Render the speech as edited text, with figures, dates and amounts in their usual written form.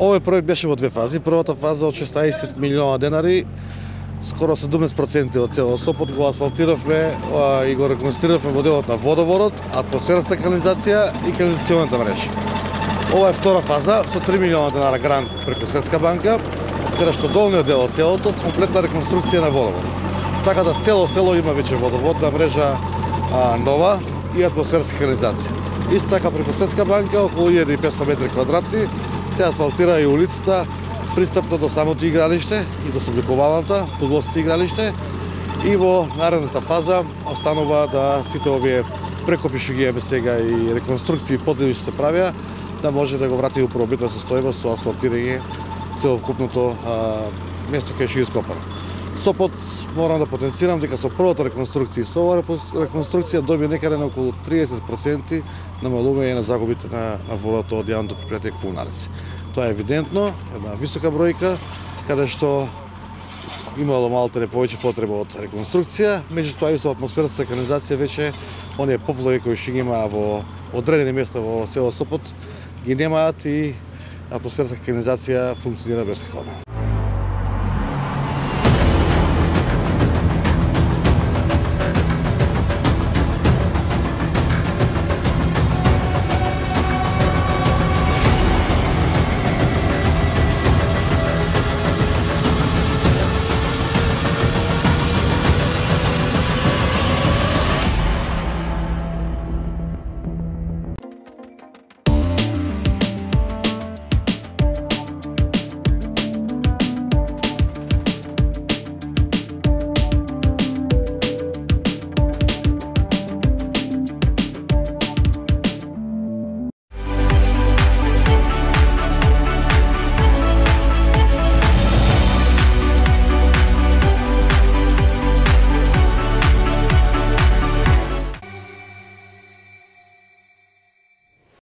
Овој проект беше во две фази. Првата фаза од 16 милиона денари, скоро 17% од цело Сопот го асфалтиравме и го реконструиравме во делот на водоводот, атмосферната канализација и канализационата мрежа. Ова е втора фаза со 3 милиона денара грант преку Светска банка, каде што долниот дел од селото комплетна реконструкција на водоводот. Така да цело село има веќе водоводна мрежа нова и атмосферска канализација. Исто така преку Светска банка околу 1500 метри квадратни се асфалтира и улицата пристапно до самото игралиште и до собликуваната фудбалското игралиште, и во наредната фаза останува да сите овие прекопи што ги имаме сега и реконструкции подземни што се правија, да може да го врати у првобитна состојба со асфалтирање целокупното место кај што е ископано. Сопот, морам да потенцирам дека со првата реконструкција, со оваа реконструкција добија некаде на околу 30% намалување на загубите на водата од јавното предпријатие Комунарец. Тоа е евидентно, една висока бројка, каде што имало малку повеќе потреба од реконструкција, меѓутоа и со атмосферната канализација веќе оние поплави кои што ги има во одредени места во село Сопот ги немаат и атмосферната канализација функционира безспорно.